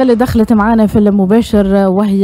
اللي دخلت معنا في المباشر وهي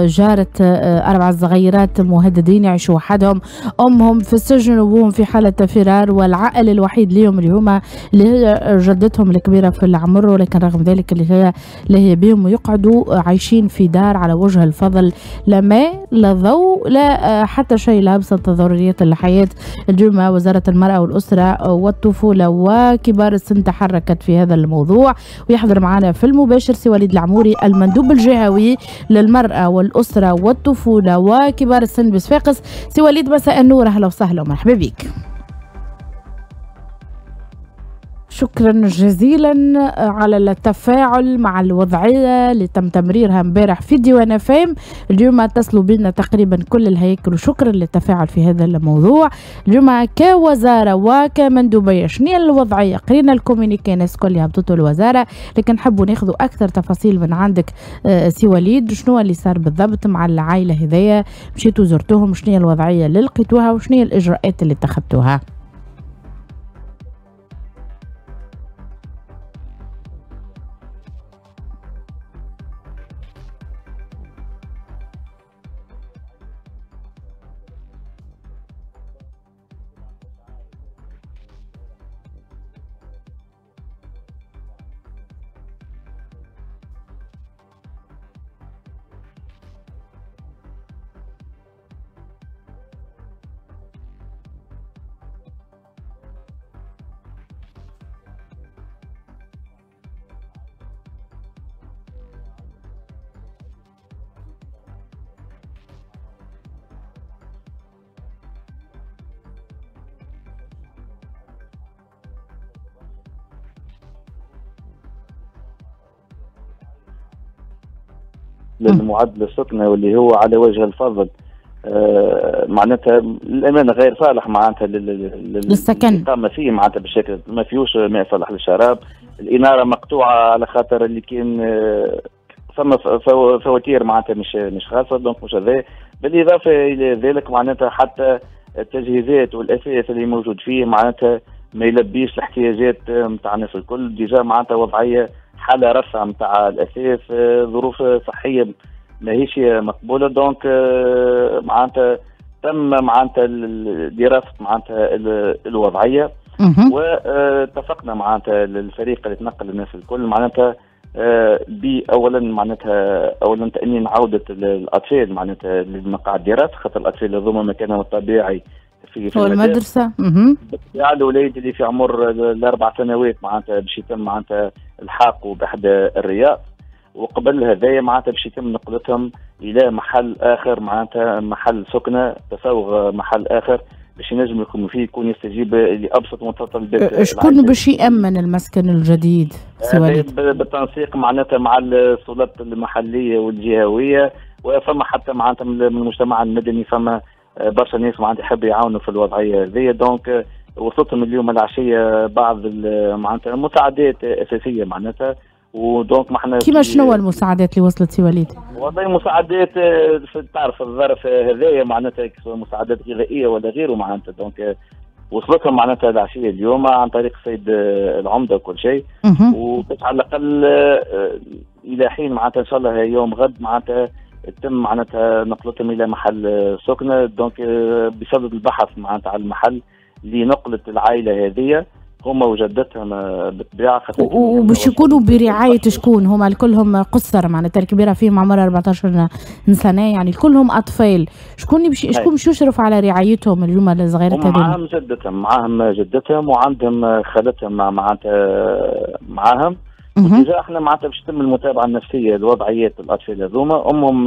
جارة 4 صغيرات مهددين يعيشوا وحدهم، أمهم في السجن وأبوهم في حالة فرار، والعائل الوحيد ليهم اللي هما اللي هي جدتهم الكبيرة في العمر، ولكن رغم ذلك اللي هي بهم ويقعدوا عايشين في دار على وجه الفضل، لا ماء لا ضوء لا حتى شيء، لا أبسط ضروريات الحياة. اليوم وزارة المرأة والأسرة والطفولة وكبار السن تحركت في هذا الموضوع، ويحضر معنا في المباشر سي وليد العموري المندوب الجهوي للمرأة والأسرة والطفولة وكبار السن بصفاقس. سي وليد مساء النور، أهلا وسهلا ومرحبا بك. شكرا جزيلا على التفاعل مع الوضعية اللي تم تمريرها امبارح في ديوان فام. اليوم اتصلوا بنا تقريبا كل الهياكل، وشكرا للتفاعل في هذا الموضوع. اليوم كوزارة وكمندوبية شنو الوضعية؟ قرينا ال communiqué الناس الكل هبطته الوزارة، لكن نحبوا ناخذوا أكثر تفاصيل من عندك سي وليد. شنو اللي صار بالضبط مع العائلة هذيا؟ مشيتوا زرتوهم، شنو الوضعية اللي لقيتوها وشنو الإجراءات اللي اتخذتوها؟ للمعدل السكنة واللي هو على وجه الفضل معناتها الأمانة غير صالح معناتها للسكن الإقامة فيه، معناتها بالشكل ما فيهوش ماء صالح للشراب، الإنارة مقطوعة على خاطر اللي كان ثم فواتير معناتها مش خاصة، donc مش هذا. بالإضافة إلى ذلك معناتها حتى التجهيزات والأثاث اللي موجود فيه معناتها ما يلبيش الاحتياجات نتاع الناس الكل. déjà معناتها وضعية حالة رفع نتاع الأثاث، ظروف صحية ماهيش مقبولة. donc معناتها تم معناتها دراسة معناتها الوضعية، واتفقنا معناتها الفريق اللي تنقل الناس الكل معناتها بأولا معناتها أولا تأمين عودة الأطفال معناتها لمقاعد الدراسة، خاطر الأطفال هذوما مكانهم الطبيعي في المدرسة. بالطبيعة الوليد اللي في عمر ال4 سنوات معناتها باش يتم معناتها الحاقه بأحد الرياض، وقبل هذايا معناتها باش يتم نقلتهم إلى محل آخر معناتها محل سكنة، تسوغ محل آخر باش ينجم يكون فيه، يكون يستجيب لأبسط متطلبات. شكون باش يأمن المسكن الجديد سي وليد؟ بالتنسيق معناتها مع السلطات المحلية والجهوية، وفما حتى معناتها من المجتمع المدني فما برشا ناس معناتها يحبوا يعاونوا في الوضعية هذيا. donc وصلتهم اليوم العشية بعض معناتها مساعدات اساسية معناتها، و donc ما احنا كيما شنو المساعدات اللي وصلت سي وليد؟ والله مساعدات تعرف الظرف هذايا معناتها مساعدات غذائية ولا غيره معناتها. donc وصلتهم معناتها العشية اليوم عن طريق السيد العمدة وكل شيء، وباش على الاقل الى حين معناتها ان شاء الله يوم غد معناتها تم معناتها نقلتهم الى محل سكنه. donc بسبب البحث معناتها على المحل لنقلة العائلة هذه هما وجدتهم بالطبيعة، وباش يكونوا برعاية شكون؟ هما الكلهم قصر معناتها الكبيرة فيهم عمرها 14 سنة، يعني كلهم اطفال. شكون باش يشرف على رعايتهم اليوم الصغيرات هذوما؟ معاهم جدتهم، معاهم جدتهم وعندهم خالتهم معناتها معاهم. و déjà احنا معناتها باش تتم المتابعة النفسية لوضعيات الاطفال هذوما. امهم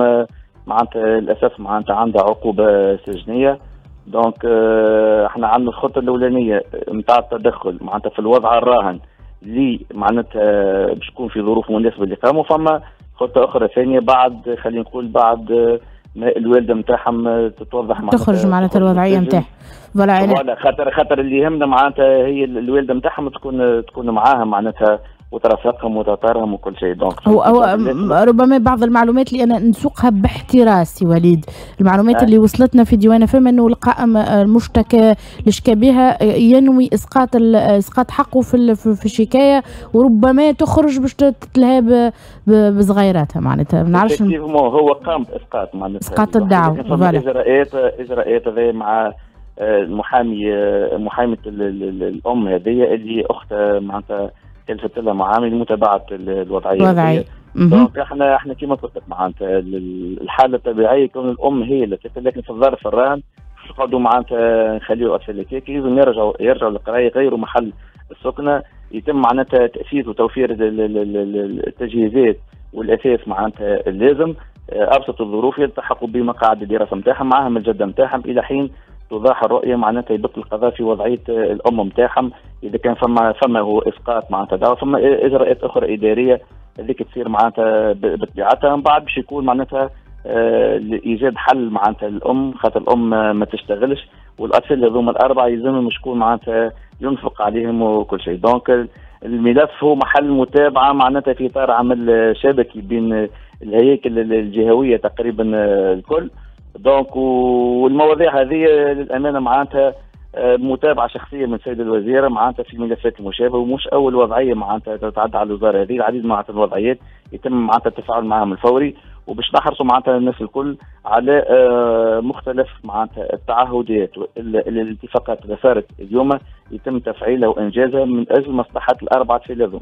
معناتها للاسف معناتها عندها عقوبه سجنيه. donc احنا عندنا الخطة الاولانية نتاع التدخل معناتها في الوضع الراهن اللي معناتها باش تكون في ظروف مناسبة للاقامة، وفما خطه اخرى ثانية بعد خلينا نقول بعد ما الوالدة نتاعهم تتوضح معناتها تخرج معناتها الوضعية نتاعها. voilà خاطر اللي يهمنا معناتها هي الوالدة نتاعهم تكون معاها معناتها وترافقهم وتطارهم وكل شيء. donc هو ربما بعض المعلومات اللي انا نسوقها باحتراس سي وليد، المعلومات اللي وصلتنا في ديوان فهم انه القائم المشتكى اللي شكى بها ينوي اسقاط حقه في الشكاية، وربما تخرج باش تتلهى بصغيراتها معناتها ما نعرفش. هو قام باسقاط معناتها اسقاط الدعوة. اجراءات هذه مع المحامي، محاميه الام هذه اللي اختها معناتها كلفت لها معامل متابعه الوضعية. donc احنا كما قلت لك معناتها الحالة الطبيعية كون الام هي اللي تكفل، لكن في الظرف الراهن نقعدوا معناتها نخليو الاطفال هكاك لازم يرجعوا للقرايه، يغيروا محل السكنة، يتم معناتها تاسيس وتوفير التجهيزات والاثاث معناتها اللازم، ابسط الظروف يلتحقوا بمقاعد الدراسة نتاعهم معاهم الجدة نتاعهم الى حين توضح الرؤية معناتها يبق القضاء في وضعية الام نتاعهم. اذا كان فما هو اسقاط معناتها دعوه، فما اجراءات اخرى ادارية هذيك تصير معناتها بطبيعتها من بعد باش يكون معناتها لايجاد حل معناتها الام، خاطر الام ما تشتغلش والاطفال هذوما الاربعة يلزمهم شكون معناتها ينفق عليهم وكل شيء. donc الملف هو محل متابعه معناتها في اطار عمل شبكي بين الهياكل الجهوية تقريبا الكل. donc والمواضيع هذه للامانة معناتها متابعه شخصية من السيدة الوزيرة معناتها في الملفات المشابهة، ومش اول وضعية معناتها تتعدى على الوزارة هذه، العديد معناتها الوضعيات يتم معناتها التفاعل معهم الفوري، وباش نحرصوا معناتها الناس الكل على مختلف معناتها التعهدات والاتفاقات اللي صارت اليوم يتم تفعيلها وانجازها من اجل مصلحة الاربعة في هذوما.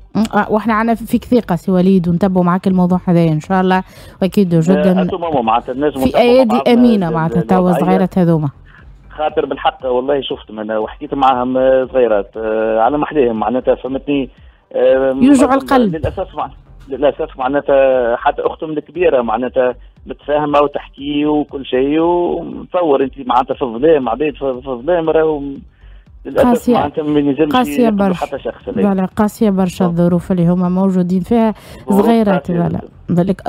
واحنا عندنا فيك ثقة سي وليد ونتبعوا معك الموضوع هذا ان شاء الله، واكيد جدا في ايادي امينه معناتها توا صغيرات هذوما. خاطر بالحق والله شفت انا وحكيت معاهم صغيرات على محليهم معناتها فهمتني، يوجع القلب للاسف معناتها حتى اختهم الكبيرة معناتها متفاهمه وتحكي وكل شيء، وتصور انت معناتها في الظلام عباد في الظلام راهو للاسف معناتها ما ينجمش قاسية برشا حتى شخص. voilà قاسية برشا الظروف اللي هما موجودين فيها صغيرات. voilà بالك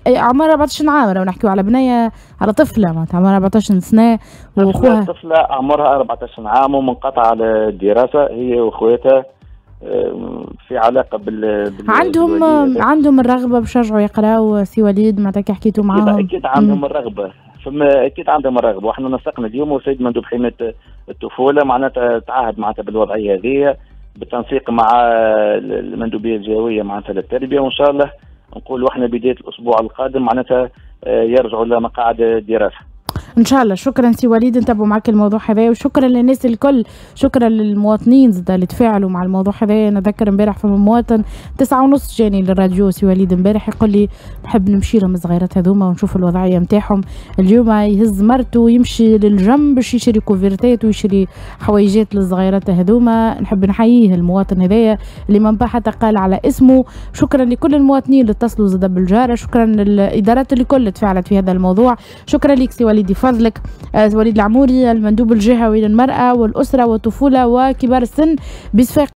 عمرها 14 عام، راهو نحكيو على بنيه على طفله معناتها عمرها 14 سنة واخوها طفله عمرها 14 عام ومنقطعه على الدراسة هي واخواتها في علاقة بال عندهم الرغبة باش يرجعوا يقراو سي وليد معناتها كي حكيتوا معاهم؟ اكيد عندهم الرغبة، فما اكيد عندهم الرغبة، واحنا نسقنا اليوم والسيد مندوب حماية الطفولة معناتها تعهد معناتها بالوضعيه هذه بالتنسيق مع المندوبيه الجهوية معناتها للتربية، وان شاء الله نقولوا احنا بداية الاسبوع القادم معناتها يرجعوا لمقاعد الدراسة. ان شاء الله. شكرا سي وليد، نتابعوا معك الموضوع هذا، وشكرا للناس الكل، شكرا للمواطنين زاد اللي تفاعلوا مع الموضوع هذا. نذكر امبارح فما مواطن 9:30 جاني للراديو سي وليد امبارح يقول لي نحب نمشي لهم الصغيرات هذوما ونشوف الوضعية نتاعهم. اليوم يهز مرته ويمشي للجنب باش يشري couverture ويشري حويجات للصغيرات هذوما. نحب نحييه المواطن هذايا اللي من حتى قال على اسمه. شكرا لكل المواطنين اللي اتصلوا زاد بالجاره، شكرا للادارات اللي الكل تفاعلت في هذا الموضوع. شكرا لك سي وليد فضلك، وليد العموري المندوب الجهوي للمرأة والأسرة والطفولة وكبار السن بصفاقس.